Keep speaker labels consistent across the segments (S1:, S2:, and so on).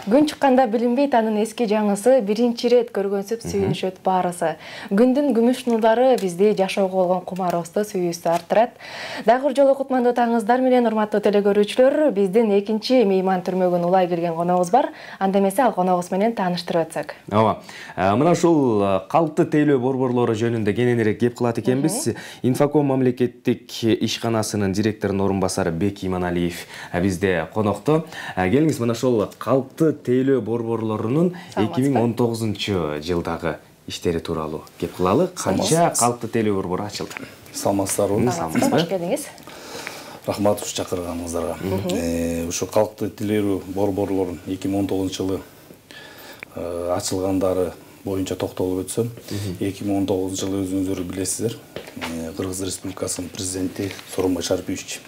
S1: Күн чыкканда билинбейт анын эски жаңысы, биринчи рет көргөнсүп сүйүнүшөт баарысы. Күндүн күмүш нурлары бизди жашоого болгон кумарыбызды, сүйүүбүздү арттырат. Дагы бир жолу кутмандуу таңыңыздар менен, урматтуу телекөрүүчүлөр. Биздин экинчи мейман түрмөгүн улай келген коногубуз бар. Анда эмесе ал коногубуз менен тааныштырып өтсөк.
S2: Ооба. Мына ушул калкты тейлөө борборлору жөнүндө кененирээк кеп кылат экенбиз. Инфоком мамлекеттик ишканасынын директорунун орун басары Бек Иманалиев бизде конокто. Келиңиз, мына ошол калкты тейлөө борборлорунун 2019-жылдагы иштери тууралуу кеп кылалы. Канча калкты тейлөө борбору ачылды?
S3: Саламатсыздарбы?
S1: Кош келдиңиз.
S3: Рахмат чакырганыңыздарга. Ушу калкты тейлөө борборлорунун 2019-жылы ачылгандары боюнча токтолуп өтсөм, 2019-жылы өзүңүздөр билесиздер, Кыргыз Республикасынын президенти Сооронбай Шарипович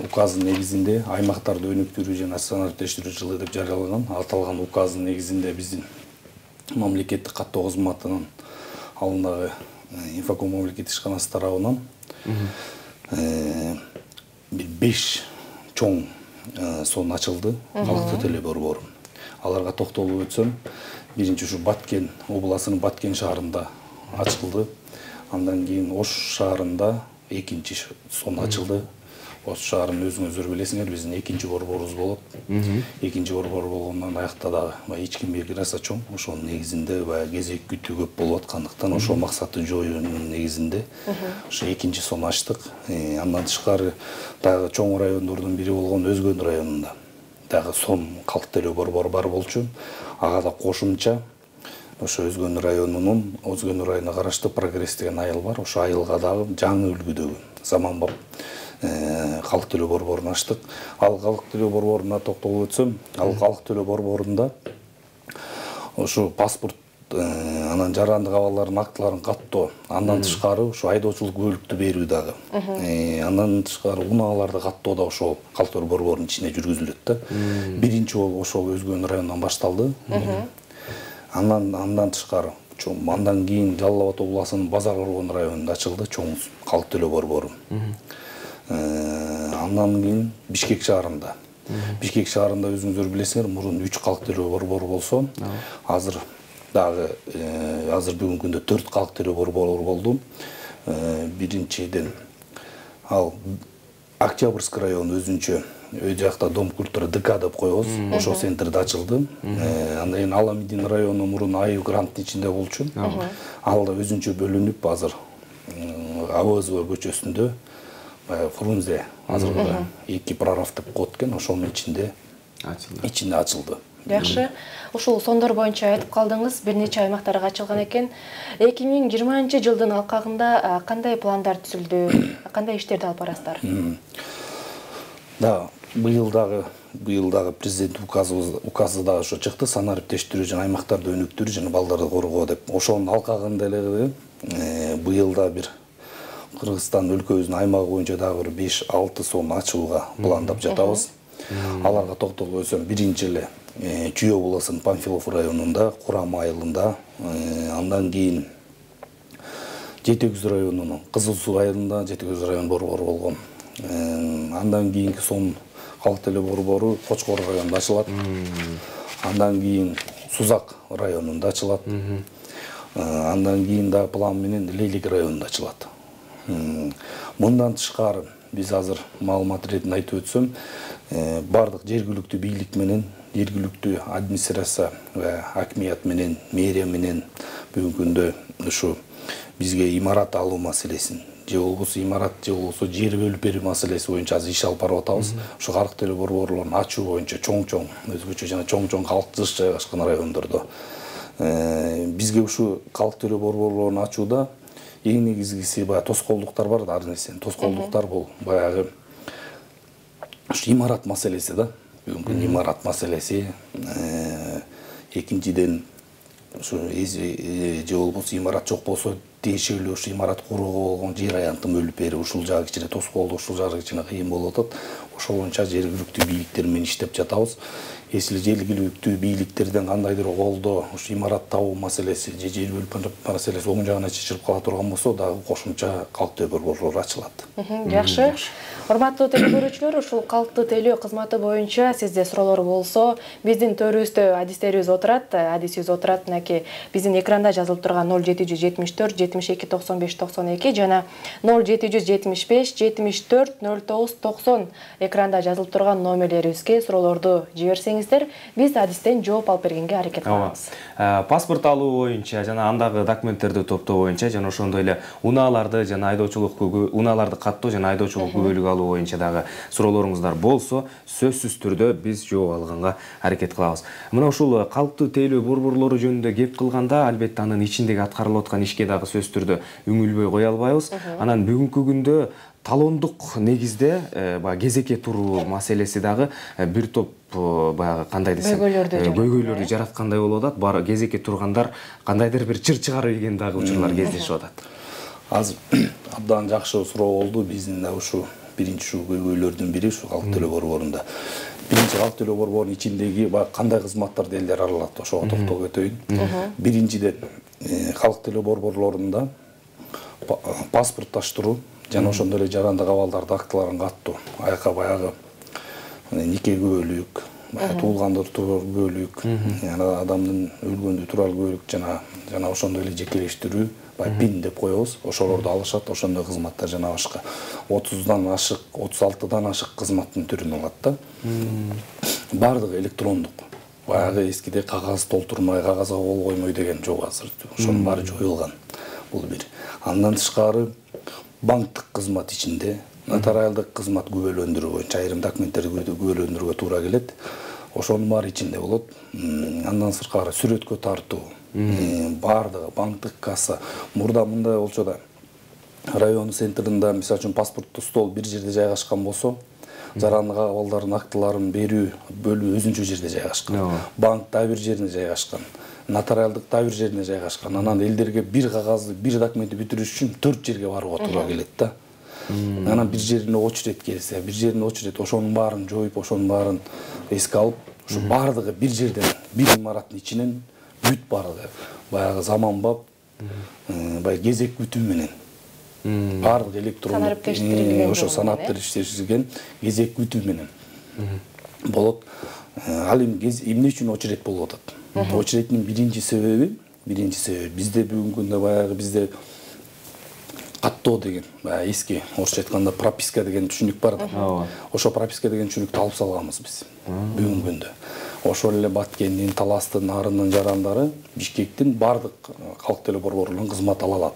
S3: указынын негизинде аймактарды өнүктүрүү жана санариптештирүү жылы деп жарыялаган. Аталган указдын негизинде биздин мамлекеттик каттоо кызматынын алдындагы Инфоком мамлекеттик ишканасы тарабынан 5 чоң сон ачылды калкты тейлөө борбору. Аларга токтолуп өтсөм, биринчи ушу Баткен областынын Баткен шаарында ачылды. Андан кийин Ош шаарында экинчи сон ачылды. Ош шаарын өзүңүздөр билесиңер, биздин экинчи борборубуз болот. Экинчи борбор болгондон аяқта дагы ички миграция чоң. Ошонун негизинде кезек күтүү көп болуп аткандыктан ошол максатты жоюунун негизинде ошо экинчи сон ачтык. Андан тышкары дагы чоң райондордун бири болгон Өзгөн районунда дагы сон калкты тейлөө борбору бар болчу. Ага да кошумча ошо Өзгөн районуна караштуу Прогресс деген айыл бар. Ошо айылга дагы жаңы үлгүдөгү заманбап калкты тейлөө борборун ачтык. Ал калкты тейлөө борборуна токтолуп өтсөм, ал калкты тейлөө борборунда ошо паспорт, анан жарандык абалдардын актыларын каттоо, андан тышкары ошо айдоочулук бөлүктү берүү дагы. Андан тышкары унааларды каттоо да ошол калкты тейлөө борборунун ичинде жүргүзүлөт да. Биринчи жолу ошол Өзгөн районунан башталды. Андан тышкары андан кийин Жалал Абад областынын Базар Оргон районунда ачылды чоң калкты тейлөө борбору. Андан кийин Бишкек шаарында. Бишкек шаарында өзүңүздөр билесиңер, мурун 3 калкты тейлөө борбору болсо, азыр бүгүнкү күндө 4 калкты тейлөө борбору болду. Биринчиден ал Октябрьский район өзүнчө өй жакта Дом культуры ДК деп коебуз, ошол центрде ачылды. Андан кийин Аламидин району мурун Айыл гранттын ичинде болчу. Ал да өзүнчө бөлүнүп азыр АВЗ көчөсүндө Фрунзе азыркы 2 прорав деп коет экен, ошонун ичинде ачылды.
S1: Жакшы. Ушул сондор боюнча айтып калдыңыз, бир нече аймактарга ачылган экен. 2020-жылдын алкагында кандай пландар түзүлдү? Кандай иштерди алып барасыздар?
S3: Да, быйыл дагы президент указы дагы ошо чыкты, санариптештирүү жана аймактарды өнүктүрүү жана балдарды коргоо деп. Ошонун алкагында эле быйыл да бир Кыргызстан өлкөбүздүн аймагы боюнча дагы бир 5-6 сон ачууга пландап жатабыз. Аларга токтолуп өтсөм, биринчи эле Чүй областынын Панфилов районунда, Курам айылында, андан кийин Жети Көз районунун Кызыл Суу айылында Жети Көз район борбору болгон. Андан кийинки сон калкты тейлөө борбору Кочкор районунда ачылат. Андан кийин Сузак районунда ачылат. Андан кийин да план менен Лейлик районунда ачылат. Мындан тышкары биз азыр маалымат иретинде айтып өтсөм, бардык жергиликтүү бийлик менен, жергиликтүү администрация ва акимият менен, мэрия менен бүгүнкү күндө ушу бизге имарат алуу маселесин, же болбосо имарат, же болбосо жер бөлүп берүү маселеси боюнча азыр иш алып барып атабыз. Ушу калкты тейлөө борборлорун ачуу боюнча чоң-чоң, өзгөчө жана чоң-чоң калктыш жайгашкан райондордо бизге ушу калкты тейлөө борборлорун ачууда эң негизгиси баягы тоскоолдуктар бар да, ар нерсенин тоскоолдуктар бул баягы ушу имарат маселеси да. Бүгүнкү имарат маселеси, экинчиден ушу же болбосо имарат жок болсо тиешелүү ушу имарат курууга болгон жер аянтын бөлүп берүү, ушул жагы кичине тоскоолдук, ушул жагы кичине кыйын болуп атат. ошол боюнча жергиликтүү бийликтер менен иштеп жатабыз. Если жергиликтүү бийликтерден кандайдыр колдоо, ушу имарат табуу маселеси же жер бөлүп маселеси оң жагына чечилип кала турган болсо, дагы кошумча калктуу борборлор ачылат.
S1: Жакшы. Урматтуу теле көрүүчүлөр, ушул калктуу тейлөө кызматы боюнча сизде суроолор болсо, биздин төрүбүздө адистерибиз отурат, мынакей биздин экранда жазылып турган 0774 72 95 92 жана 0775 74 09 90 экранда жазылып турган номерлерибизге суроолорду жиберсеңиздер, биз адистен жооп алып бергенге аракет кылабыз.
S2: Паспорт алуу боюнча жана андагы документтерди топтоо боюнча жана ошондой эле унааларды жана унааларды каттоо жана айдоочулук күбөлүк алуу боюнча дагы суроолоруңуздар болсо, сөзсүз түрдө биз жооп алганга аракет кылабыз. Мына ушул калктуу тейлөө борборлору жөнүндө кеп кылганда, албетте анын ичиндеги аткарылып аткан ишке дагы сөзсүз түрдө үңүлбөй кое албайбыз. Анан бүгүнкү күндө талондук негизде баягы кезекке туруу маселеси дагы бир топ баягы кандай десем көйгөйлөрдү жараткандай болуп атат. Бар кезекке тургандар кандайдыр бир чыр чыгарып ийген дагы учурлар кездешип атат.
S3: Азыр абдан жакшы суроо болду. Биздин да ушу биринчи ушу көйгөйлөрдүн бири ушу калктуу тейлөө борборунда. Биринчи калктуу тейлөө борборунун ичиндеги баягы кандай кызматтарды элдер аралат, ошого токтолуп кетейин. Биринчиден калктуу тейлөө борборлорунда паспортташтыруу жана ошондой эле жарандык абалдарды актыларын каттоо, аяка баягы нике күбөлүк, туулгандыр турар күбөлүк, адамдын өлгөндө турар күбөлүк жана ошондой эле жекелештирүү, пин деп коебуз, ошолорду алышат, ошондой кызматтар жана башка 30дан ашык, 36дан ашык кызматтын түрүн алат да. Бардыгы электрондук. Баягы эскиде кагаз толтурмай, кагазга кол коймой деген жок азыр. Ошонун баары жоюлган. Бул бир. Андан тышкары банктык кызмат ичинде нотариалдык кызмат күбөлөндүрүү боюнча айрым документтерди күбөлөндүрүүгө туура келет. Ошонун баары ичинде болот. Андан сырткары сүрөткө тартуу, бардыгы банктык касса. Мурда мындай болчу да, район центринде мисалы үчүн паспорттуу стол бир жерде жайгашкан болсо, жарандык абалдардын актыларын берүү бөлүмү өзүнчө жерде жайгашкан. Банк да бир жерине жайгашкан. Нотариалдык да бир жерине жайгашкан. Анан элдерге бир кагазды, бир документти бүтүрүш үчүн 4 жерге барууга туура келет да. Анан бир жерине очередь келсе, бир жерине очередь ошонун баарын жоюп, ошонун баарын эске алып, ушу бардыгы бир жерден, бир имараттын ичинен бүт бардыгы баягы заманбап, баягы кезек күтүү менен бардык электрондук ошо санаптештирилген кезек күтүү менен болот. Ал эмне үчүн очередь болуп атат? Очередтин биринчи себеби бизде бүгүнкү күндө баягы бизде каттоо деген, баягы эски орусча айтканда прописка деген түшүнүк бар да. Ошо прописка деген түшүнүктү алып салганбыз биз бүгүнкү күндө. Ошол эле Баткендин, Таластын, Нарындын жарандары Бишкектин бардык калктуу тейлөө борборлорунун кызмат ала алат.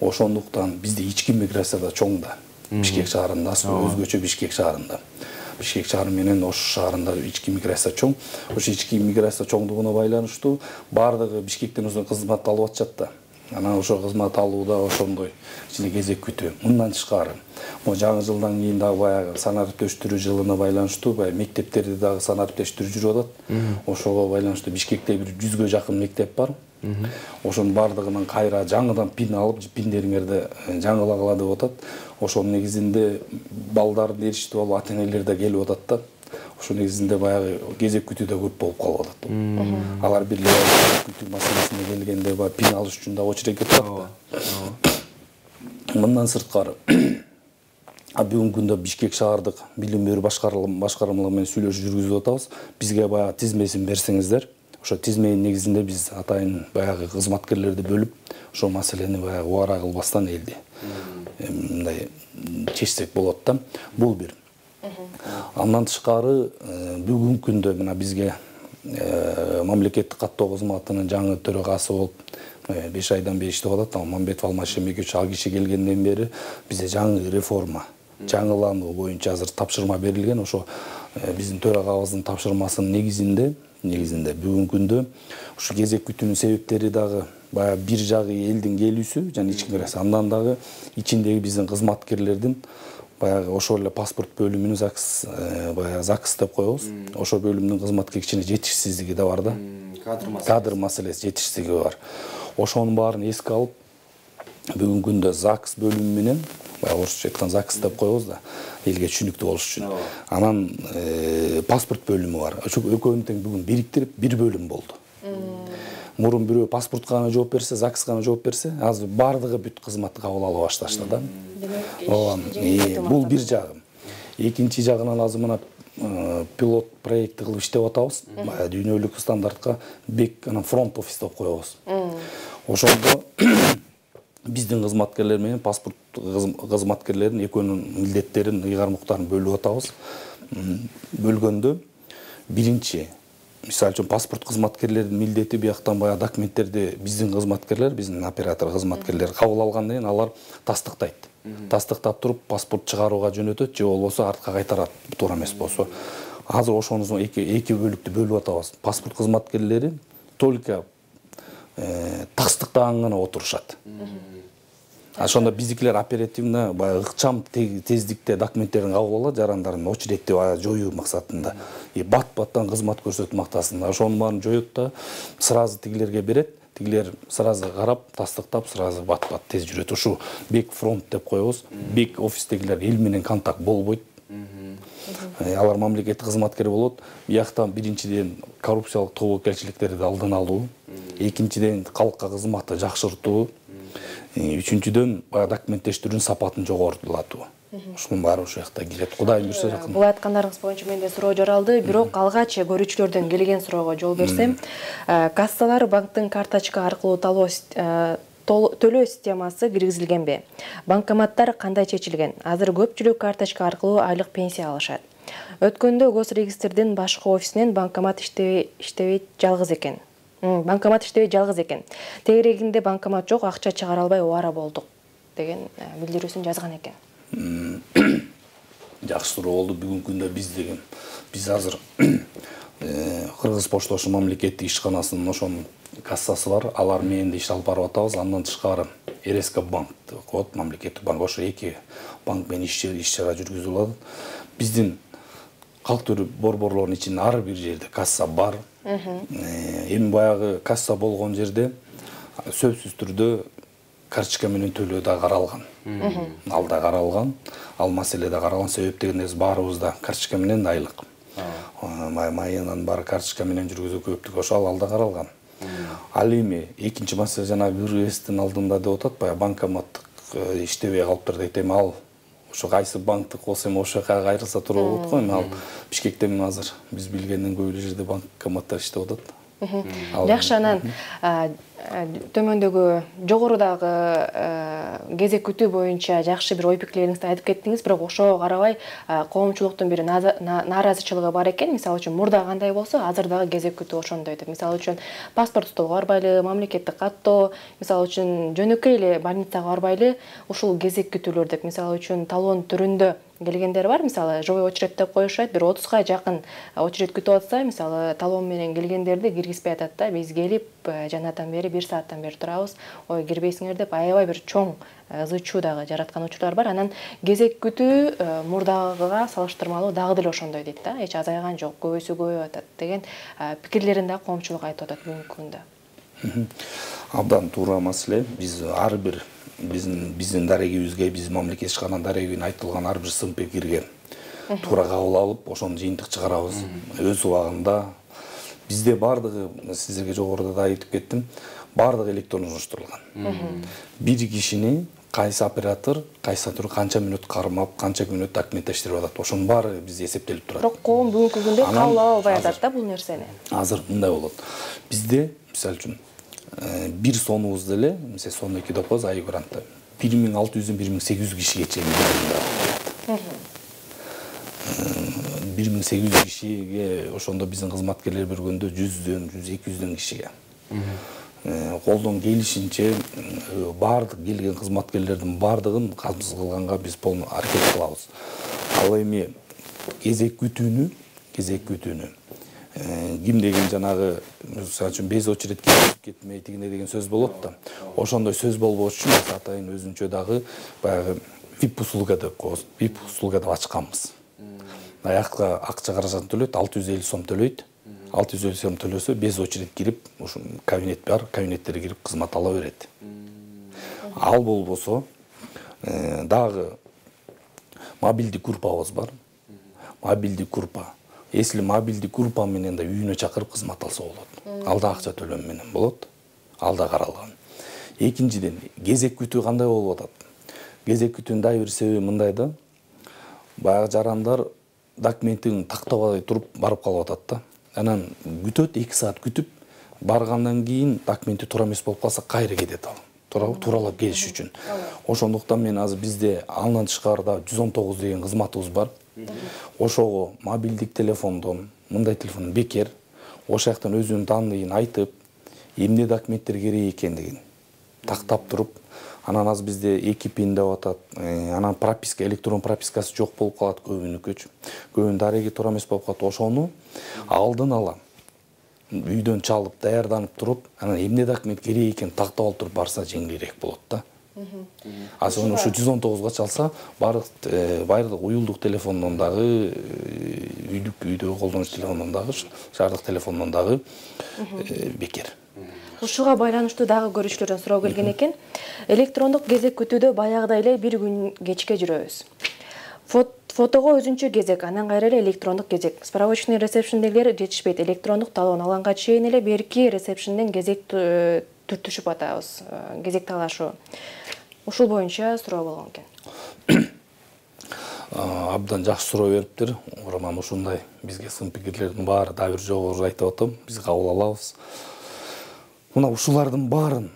S3: Ошондуктан бизде ички миграцияда чоң да. Бишкек шаарында, өзгөчө Бишкек шаарында. Бишкек шаары менен Ош шаарында ички миграция чоң. Ошо ички миграция чоңдугуна байланыштуу бардыгы Бишкектен өзүнүн кызмат алып атышат да. Анан ошо кызмат алууда ошондой ичинде кезек күтүү. Мындан тышкары, могу жаңы жылдан кийин дагы баягы санариптештирүү жылына байланыштуу баягы мектептерди дагы санариптештирүү жүрүп атат. Ошого байланыштуу Бишкекте бир 100га жакын мектеп бар. Ошонун бардыгынан кайра жаңыдан пин алып, пиндериңерди жаңылагыла деп атат. Ошонун негизинде балдарды ээрчитип алып, ата-энелер да келип атат да. Ошо негизинде баягы кезек күтүү да көп болуп калып атат. Алар бир кезек күтүү маселесине келгенде баягы пин алыш үчүн да очередке турат да. Мындан сырткары бүгүнкү күндө Бишкек шаардык билим берүү башкармалары менен сүйлөшүү жүргүзүп атабыз. Бизге баягы тизмесин берсеңиздер, ошо тизменин негизинде биз атайын баягы кызматкерлерди бөлүп, ошол маселени баягы убара кылбастан элди мындай чечсек болот да. Бул бир. Андан тышкары бүгүнкү күндө мына бизге мамлекеттик каттоо кызматынын жаңы төрагасы болуп 5 айдан бери иштеп атат. Мамбетов Алмаз Шембекович ал киши келгенден бери бизде жаңы реформа, жаңылануу боюнча азыр тапшырма берилген. Ошо биздин төрагабыздын тапшырмасынын негизинде бүгүнкү күндө ушу кезек күтүүнүн себептери дагы баягы бир жагы элдин келүүсү жана ички миграция, андан дагы ичиндеги биздин кызматкерлердин баягы ошол эле паспорт бөлүмүнүн баягы ЗАГС деп коебуз. Ошо бөлүмдүн кызматка кичине жетишсиздиги да бар да. Кадр маселеси жетишсиздиги бар. Ошонун баарын эске алып, бүгүнкү күндө ЗАГС бөлүмү менен баягы орусча айткан ЗАГС деп коебуз да, элге түшүнүктүү болуш үчүн. Анан паспорт бөлүмү бар. Ошо экөөнү тең бүгүн бириктирип бир бөлүм болду. Мурун бирөө паспортко гана жооп берсе, ЗАГСка гана жооп берсе, азыр баардыгы бүт кызматты кабыл ала башташты да. Бул бир жагы. Экинчи жагынан азыр мына пилот проекти кылып иштеп атабыз. Дүйнөлүк стандартка бек анан фронт офис деп коебуз. Ошондо биздин кызматкерлер менен паспорт кызматкерлеринин экөөнүн милдеттерин, ыйгармуктарын бөлүп атабыз. Бөлгөндө биринчи, мисалы үчүн паспорт кызматкерлеринин милдети бияктан баягы документтерди биздин кызматкерлер, биздин оператор кызматкерлер кабыл алгандан кийин алар тастыктайт. Тастыктап туруп паспорт чыгарууга жөнөтөт же болбосо артка кайтарат, туура эмес болсо. Азыр ошону эки бөлүктү бөлүп атабыз. Паспорт кызматкерлери только тастыктаган гана отурушат. Ошондо биздикилер оперативно баягы ыкчам тездикте документтерин кабыл алат, жарандардын очередти жоюу максатында. Бат-баттан кызмат көрсөтүү мактасында ошонун баарын жоет да, сразу тигилерге берет. Тигилер сразу карап, тастыктап, сразу бат-бат тез жүрөт. Ушу бек фронт деп коебуз. Бек офистегилер эл менен контакт болбойт. Алар мамлекеттик кызматкер болот. Бияктан биринчиден коррупциялык тобокелчиликтерди алдын алуу, экинчиден калкка кызматты жакшыртуу, үчүнчүдөн документтештирүүнүн сапатын жогорулатуу. Ушунун баары ошол жакта кирет. Кудайым буйрса жакын.
S1: Бул айткандарыңыз боюнча менде суроо жаралды, бирок алгач көрүүчүлөрдөн келген суроого жол берсем, кассалар банктын карточка аркылуу төлөө системасы киргизилгенби? Банкоматтар кандай чечилген? Азыр көпчүлүк карточка аркылуу айлык пенсия алышат. Өткөндө Госрегистрдин башкы офисинен банкомат иштебейт жалгыз экен. Тегерегинде банкомат жок, акча чыгара албай оора болдук деген билдирүүсүн жазган экен.
S3: Жакшы суроо болду. Бүгүнкү күндө биз азыр Кыргыз Поштошу мамлекеттик ишканасынын ошонун кассасы бар. Алар менен да иш алып барып атабыз. Андан тышкары РСК банк деп коет, мамлекеттик банк. Ошо эки банк менен иш чара жүргүзүлүп атат. Биздин калктуу борборлордун ичинде ар бир жерде касса бар. Эми баягы касса болгон жерде сөзсүз түрдө карточка менен төлөө да каралган. Ал да каралган, ал маселе да каралган. Себеп дегенде баарыбыз да карточка менен айлык. Майынан баары карточка менен жүргүзүү көптүк, ошол ал да каралган. Ал эми экинчи маселе жана бир эстин алдында деп атат, баягы банкоматтык иштебей калыптыр дейт. Эми ал ошо кайсы банктык болсо эми ошол жака кайрылса туура болот го. Эми ал Бишкекте азыр биз билгенден көп эле жерде банкоматтар иштеп атат.
S1: Жакшы, анан төмөндөгү жогорудагы кезек күтүү боюнча жакшы бир ой пикирлериңизди айтып кеттиңиз, бирок ошого карабай коомчулуктун бир нааразычылыгы бар экен. Мисалы үчүн мурда кандай болсо, азыр дагы кезек күтүү ошондой деп. Мисалы үчүн паспорт столго барбайлы, мамлекеттик каттоо, мисалы үчүн жөнөкөй эле больницага барбайлы, ушул кезек күтүүлөр деп. Мисалы үчүн талон түрүндө келгендер бар. Мисалы живой очередь деп коюшат, бир 30га жакын очередь күтүп атса, мисалы талон менен келгендерди киргизбей атат да. Биз келип жанатан бери 1 сааттан бери турабыз, ой кирбейсиңер деп аябай бир чоң ызы-чуу дагы жараткан учурлар бар. Анан кезек күтүү мурдагыга салыштырмалуу дагы деле ошондой дейт да. Эч азайган жок, көбөйсө көбөйүп атат деген пикирлерин да коомчулук айтып атат бүгүнкү күндө.
S3: Абдан туура маселе. Биз ар бир биздин дарегибизге, биздин мамлекет ишкананын дарегине айтылган ар бир сын пикирге туура кабыл алып, ошону жыйынтык чыгарабыз. Өз убагында бизде баардыгы, сиздерге жогоруда да айтып кеттим, баардыгы электрондоштурулган. Бир кишини кайсы оператор, кайсы түрү канча мүнөт кармап, канча мүнөт документтештирип атат. Ошонун баары бизде эсептелип турат.
S1: Бирок коом бүгүнкү күндө кабыл албай атат да бул нерсени.
S3: Азыр мындай болот. Бизде, мисалы үчүн, бир сонубуз деле, мисалы сон 2 деп коебуз, ай грантта 1600-дөн 1800 кишиге чейин берилет. 1800 кишиге, ошондо биздин кызматкерлер бергөндө 100-дөн 200-дөн кишиге. Колдон келишинче баардык келген кызматкерлердин баардыгын камсыз кылганга биз полный аракет кылабыз. Ал эми кезек күтүүнү ким деген жанагы, мисалы үчүн без очередь кетмей тигине деген сөз болот да. Ошондой сөз болбош үчүн атайын өзүнчө дагы баягы VIP услуга деп коебуз. VIP услуга деп ачканбыз. Аякка акча каражатын төлөйт, 650 сом төлөйт. 650 сом төлөсө без очередь кирип, ушу кабинет бар, кабинеттерге кирип кызмат ала берет. Ал болбосо Дагы мобилдик группабыз бар. Мобилдик группа. Если мобилдик группа менен да үйүнө чакырып кызмат алса болот. Ал да акча төлөм менен болот. Ал да каралган. Экинчиден, кезек күтүү кандай болуп атат? Кезек күтүүнүн дагы бир себеби мындай да. Баягы жарандар документин тактабай туруп барып калып атат да. Анан күтөт, 2 саат күтүп, баргандан кийин документи туура эмес болуп калса кайра кетет ал. Тууралап келиш үчүн. Ошондуктан мен азыр бизде андан тышкарыда 119 деген кызматыбыз бар. Ошого мобилдик телефондон, мындай телефон бекер, ошол жактан өзүнүн данныйын айтып, эмне документтер керек экендигин тактап туруп, анан азыр бизде 2 пин деп атат. Анан прописка, электрон пропискасы жок болуп калат көбүнүкүчү. Көбүнүн дареги туура эмес болуп калат. Ошону алдын ала үйдөн чалып, даярданып туруп, анан эмне документ керек экенин тактап алып туруп барса жеңилирээк болот да. Ошону ушу 119-га чалса, баардык уюлдук телефондон дагы, үйдөгү колдонуш телефондон дагы, шаардык телефондон дагы бекер.
S1: Ушуга байланыштуу дагы көрүүчүлөрдөн суроо келген экен. Электрондук кезек күтүүдө баягыдай эле бир күн кечке жүрөбүз. Фотого өзүнчө кезек, анан кайра эле электрондук кезек. Справочный ресепшндегилер жетишпейт. Электрондук талоон алганга чейин эле берки ресепшнден кезек түртүшүп атабыз. Кезек талашуу. Ушул боюнча суроо болгон экен.
S3: Абдан жакшы суроо бериптир. Роман ушундай бизге сын пикирлердин баары дагы бир жогору айтып атам. Биз кабыл алабыз. Мына ушулардын баарын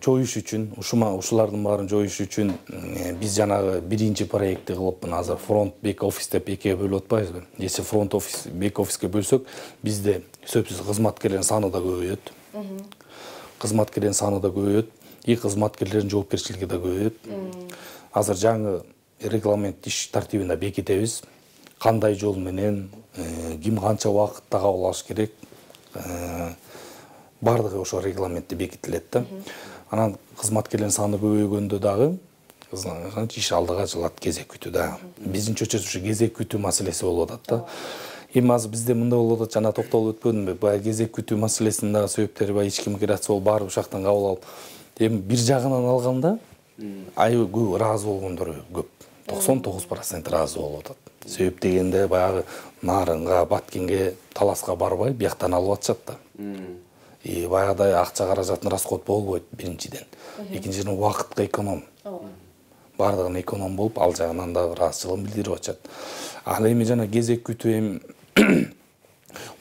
S3: жоюш үчүн, ушулардын баарын жоюш үчүн биз жанагы биринчи проектти кылып, мына азыр фронт бек офис деп экиге бөлүп атпайбызбы? Если фронт офис, бек офиске бөлсөк, бизде сөзсүз кызматкерлердин саны да көбөйөт. Кызматкерлердин саны да көбөйөт, и кызматкерлердин жоопкерчилиги да көбөйөт. Азыр жаңы регламент иш тартибинде бекитебиз. Кандай жол менен, ким канча убакытта кабыл алыш керек, бардыгы ошо регламентте бекитилет да. Анан кызматкерлердин саны көбөйгөндө дагы иш алдыга жылат, кезек күтүү да. Биздин чөчөсү ушу кезек күтүү маселеси болуп атат да. Эми азыр бизде мындай болуп атат, жана токтолуп өтпөдүмбү? Баягы кезек күтүү маселесинин дагы себептери бар, ички миграция болуп, барып ушактан кабыл алып. Эми бир жагынан алганда аябай көп ыраазы болгондор көп. 99% ыраазы болуп атат. Себеп дегенде баягы Нарынга, Баткенге, Таласка барбай, бияктан алып атышат да. Баягыдай акча каражатын расход болбойт биринчиден. Экинчиден убакытка эконом. Бардыгына эконом болуп, ал жагынан да ыраазычылыгын билдирип атышат. Ал эми жана кезек күтүү эми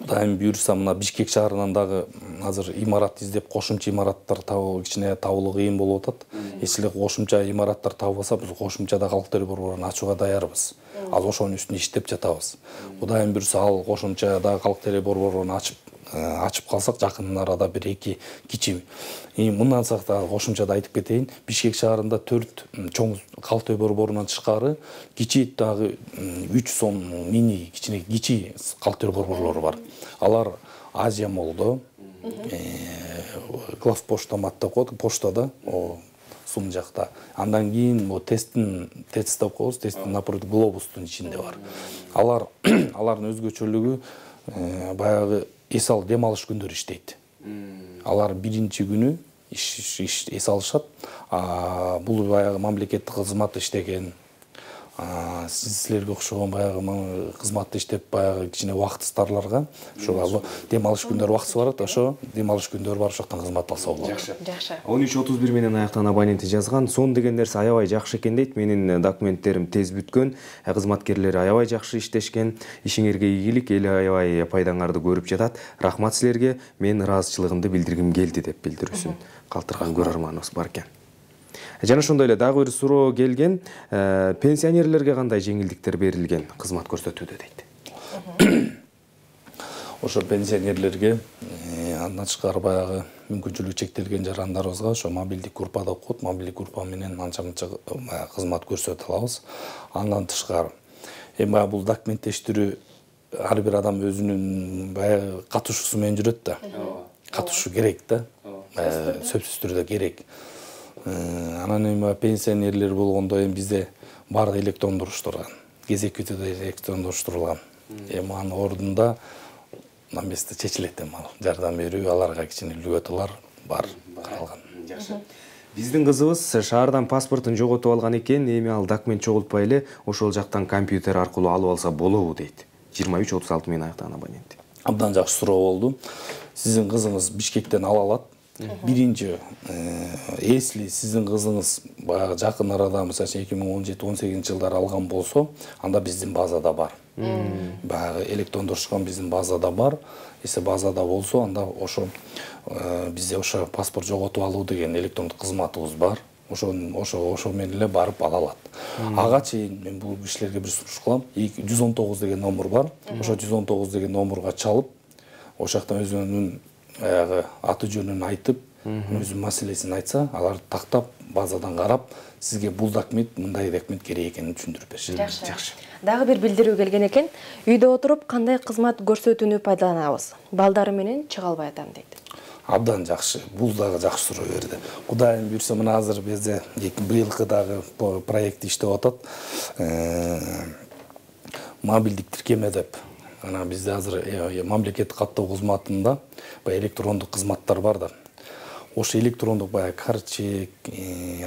S3: Кудайым буйрса, мына Бишкек шаарынан дагы азыр имарат издеп, кошумча имараттар табуу кичине табылуу кыйын болуп атат. Эч эле кошумча имараттар табылса, биз кошумчада калк төлөө борборун ачууга даярбыз. Ал ошонун үстүнө иштеп жатабыз. Кудайым буйрса, ал кошумчада калк төлөө борборун ачып калсак, жакын арада бир 2 кичи. Мындан сакта кошумчада айтып кетейин, Бишкек шаарында 4 чоң калк төлөө борборунан тышкары кичи дагы 3 сом мини кичине кичи калк төлөө борборлору бар. Алар Азия молдо, главпоштамат деп коет, поштада, сум жакта. Андан кийин ТЭЦ деп коебуз, ТЭЦтин напротив глобустун ичинде бар. Алардын өзгөчөлүгү баягы эс алып дем алыш күндөрү иштейт. Алар биринчи күнү эс алышат. Бул баягы мамлекеттик кызматта иштеген, силерге окшогон баягы кызматта иштеп баягы кичине убактысыздарларга ошо дем алыш күндөрү убактысы барат, ошо дем алыш күндөрү барып ошоктон кызмат алса болот.
S1: Жакшы.
S2: 13:31 менен аяктан абоненти жазган. Сон деген нерсе аябай жакшы экен дейт. Менин документтерим тез бүткөн, кызматкерлер аябай жакшы иштешкен. Ишиңерге ийгилик, эл аябай пайдаңарды көрүп жатат. Рахмат силерге. Мен ыраазычылыгымды билдиргим келди деп билдирүүсүн калтырган көрөрманыбыз бар экен. Жана ошондой эле дагы бир суроо келген. Пенсионерлерге кандай жеңилдиктер берилген кызмат көрсөтүүдө дейт.
S3: Ошо пенсионерлерге андан тышкары баягы мүмкүнчүлүгү чектелген жарандарыбызга ошо мобилдик группа деп коет, мобилдик группа менен анча-мынча кызмат көрсөтө алабыз. Андан тышкары эми бул документтештирүү ар бир адам өзүнүн баягы катышуусу менен жүрөт да. Катышуу керек да. Сөзсүз түрдө керек. Анан эми пенсионерлер болгондо эми бизде баары электрондуштурган. Кезек күтүүдө электрондуштурулган. Эми анын ордунда наместе чечилет эми ал жардам берүү, аларга кичине льготалар бар каралган.
S2: Жакшы. Биздин кызыбыз шаардан паспортун жоготуп алган экен, эми ал документ чогултпай эле ошол жактан компьютер аркылуу алып алса болобу дейт. 23-36 менен аяктаган абонент.
S3: Абдан жакшы суроо болду. Сиздин кызыңыз Бишкектен ала алат. Биринчи, если сиздин кызыңыз баягы жакын арада, мисалы 2017-18 жылдары алган болсо, анда биздин базада бар. Баягы электрондошкон биздин базада бар. Если базада болсо, анда ошо бизде ошо паспорт жоготуп алуу деген электрондук кызматыбыз бар. Ошо менен эле барып ала алат. Ага чейин мен бул кишилерге бир сунуш кылам. 119 деген номер бар. Ошо 119 деген номерга чалып, ошол жактан өзүнүн аты жөнүн айтып, өзүнүн маселесин айтса, алар тактап базадан карап, сизге бул документ, мындай документ керек экенин түшүндүрүп беришет.
S1: Жакшы. Дагы бир билдирүү келген экен. Үйдө отуруп кандай кызмат көрсөтүүнү пайдаланабыз? Балдары менен чыга албай атам дейт.
S3: Абдан жакшы. Бул дагы жакшы суроо берди. Кудайым буйрса, мына азыр бизде быйылкы дагы проект иштеп атат. Мобилдик тиркеме деп. Ана бизде азыр мамлекеттик каттоо кызматында электрондук кызматтар бар да. Ошо электрондук карчек,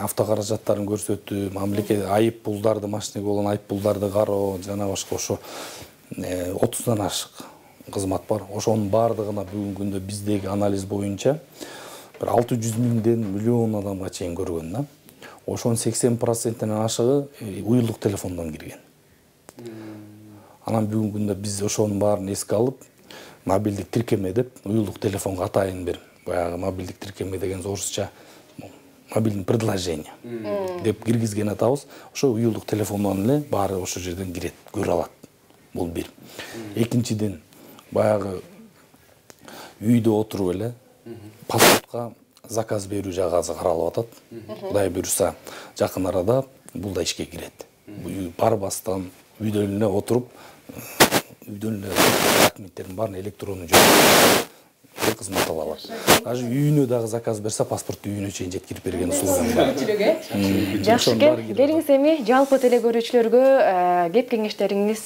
S3: автокаражаттарын көрсөтүү, мамлекет айып пулдарды, машинеге болгон айып пулдарды кароо, жана башка ошо 30дан ашык кызмат бар. Ошонун баардыгына бүгүнкү күндө биздеги анализ боюнча бир 600 миңден миллион адамга чейин көргөн да. Ошонун 80%-ден ашыгы уюлдук телефондон кирген. Анан бүгүнкү күндө биз ошонун баарын эске алып, мобилдик тиркеме деп уюлдук телефонго атайын бир баягы мобилдик тиркеме деген орусча мобильный предложение деп киргизген атабыз. Ошо уюлдук телефондон эле баары ошол жерден кирет, көрө алат. Бул бир. Экинчиден, баягы үйдө отуруп эле паспортко заказ берүү жагы азыр каралып атат. Кудай буйрса, жакын арада бул да ишке кирет. Барбастан үйдө эле отуруп, үйдөн эле документтердин баарын электрондуу жөнүндө кызмат ала алат. Даже үйүнө дагы заказ берсе, паспортту үйүнө чейин жеткирип берген услугам бар.
S1: Жакшы экен. Келиңиз эми жалпы теле көрүүчүлөргө кеп кеңештериңиз,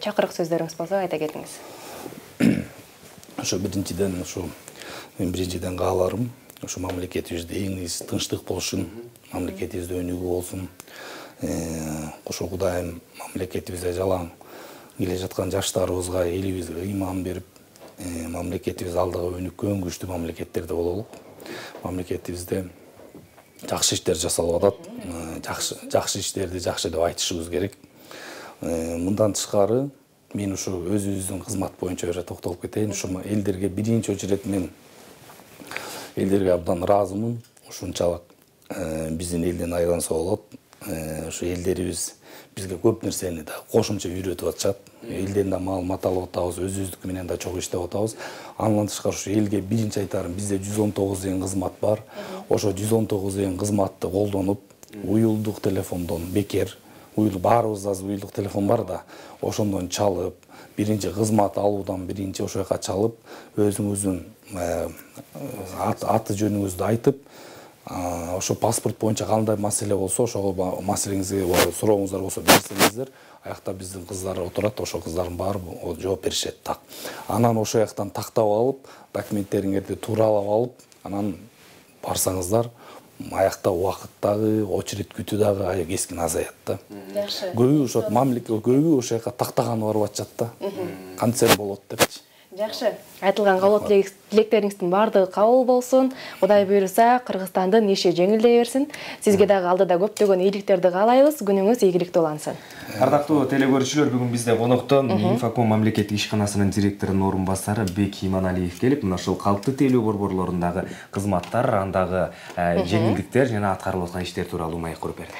S1: чакырык сөздөрүңүз болсо айта кетиңиз.
S3: Ошо биринчиден кааларым, ошо мамлекетибизде эң тынчтык болушун, мамлекетибизде өнүгүү болсун. Ошо Кудайым мамлекетибизде жалаң келе жаткан жаштарыбызга, элибизге ыйман берип, мамлекетибиз алдыга өнүккөн күчтүү мамлекеттерде бололук. Мамлекетибизде жакшы иштер жасалып атат. Жакшы иштерди жакшы деп айтышыбыз керек. Мындан тышкары мен ушу өзүбүздүн кызмат боюнча токтолуп кетейин. Ушу элдерге биринчи очередь мен элдерге абдан ыраазымын. Ушунчалык биздин элден айрылса болот. Ушу элдерибиз бизге көп нерсени да кошумча үйрөтүп атышат. Элден да маалымат алып атабыз, өзүбүздүкү менен да чогуу иштеп атабыз. Андан тышкары ушу элге биринчи айтарым, бизде 119 деген кызмат бар. Ошо 119 деген кызматты колдонуп, уюлдук телефондон бекер, баарыбызда азыр уюлдук телефон бар да, ошондон чалып, биринчи кызмат алуудан биринчи ошол жака чалып, өзүңүздүн аты жөнүңүздү айтып, ошо паспорт боюнча кандай маселе болсо, ошол маселеңизге сурооңуздар болсо берсеңиздер, аякта биздин кыздар отурат, ошол кыздардын баары жооп беришет так. Анан ошол жактан тактап алып, документтериңерди тууралап алып, анан барсаңыздар, аякта убакыт дагы, очередь күтүү дагы кескин азаят да.
S1: Жакшы.
S3: Көбү ошо мамлекет көбү ошол жака тактаганы барып атышат да. Кантсе болот депчи.
S1: Жакшы. Айтылган кабыл тилектериңиздин баардыгы кабыл болсун. Кудай буйрса, Кыргызстандын иши жеңилдей берсин. Сизге дагы алдыда көптөгөн ийгиликтерди каалайбыз. Күнүңүз ийгиликтүү улансын.
S2: Ардактуу теле көрүүчүлөр, бүгүн бизде конокто Инфоком мамлекеттик ишканасынын директорунун орун басары Бек Иманалиев келип, мына ушул калктуу тейлөө борборлорундагы кызматтар, андагы жеңилдиктер жана аткарылып аткан иштер тууралуу маек куруп берди.